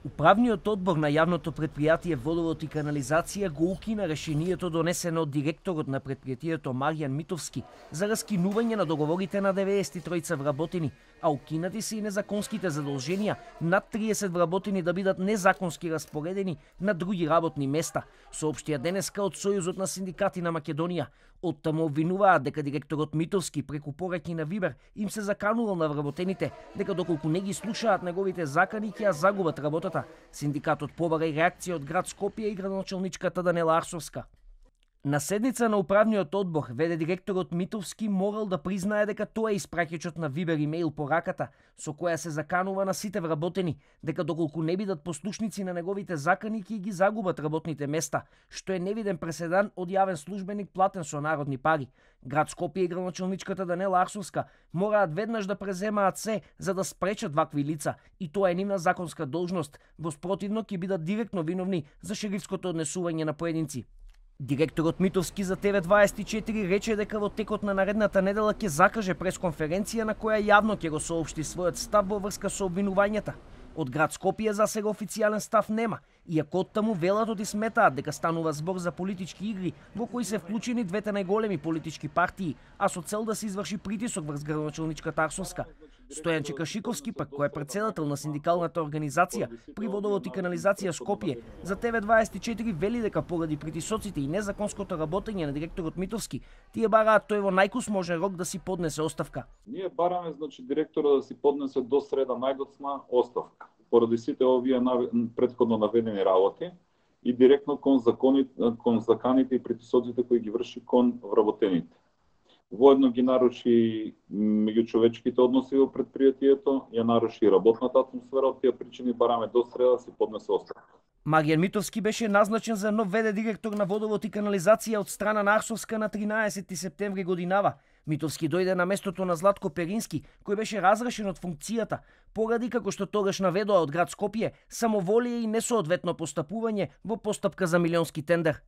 Управниот одбор на јавното предпријатие Водовод и канализација го укина решението донесено од директорот на предпријатието Маријан Митовски за раскинување на договорите на 93 вработени, а укинати се и незаконските задолженија над 30 вработени да бидат незаконски распоредени на други работни места, соопштија денеска од Сојузот на синдикати на Македонија. Оттаму обвинуваат дека директорот Митовски преку пораки на Вибер им се заканувал на вработените, дека доколку не ги слушаат неговите закани ќе ја загубат работата. Синдикатот побара и реакција од град Скопје и градоначалничката Данела Арсовска. На седница на управниот одбор, веде директорот Митовски морал да признае дека тоа е испраќачот на Вибер имејл пораката, со која се заканува на сите вработени, дека доколку не бидат послушници на неговите закани ќе ги загубат работните места, што е невиден преседан од јавен службеник платен со народни пари. Град Скопје и градоначалничката Данела Арсовска мораат веднаш да преземаат се за да спречат вакви лица, и тоа е нивна законска должност, во спротивно ќе бидат директно виновни за шерифското однесување на поединци. Директорот Митовски за ТВ24 рече дека во текот на наредната недела ќе закаже пресконференција на која јавно ќе го соопшти својот став во врска со обвинувањата. Од град Скопје за сега официјален став нема, иако оттаму велат и сметаат дека станува збор за политички игри во кои се вклучени двете најголеми политички партии, а со цел да се изврши притисок врз градоначалничката Арсовска. Стојан Чекашиковски, пак кој е претседател на синдикалната организација при Водовод и канализација Скопје, за ТВ24 вели дека поради притисоците и незаконското работење на директорот Митовски, тие бараат тој во најкусможен рок да си поднесе оставка. Ние бараме директорот да си поднесе до среда најдоцна оставка, поради сите овие претходно наведени работи и директно кон заканите и притисоците кои ги врши кон вработените. Воедно ги наруши меѓучовечките односи во предпријатието, ја наруши работната атмосфера, од тие причини бараме до среда си поднесе оставка. Маријан Митовски беше назначен за нов ВД директор на Водовод и канализација од страна на Арсовска на 13 септември годинава. Митовски дојде на местото на Златко Перински, кој беше разрешен од функцијата, поради како што тогаш наведоа од град Скопје, самоволие и несоодветно постапување во постапка за милионски тендер.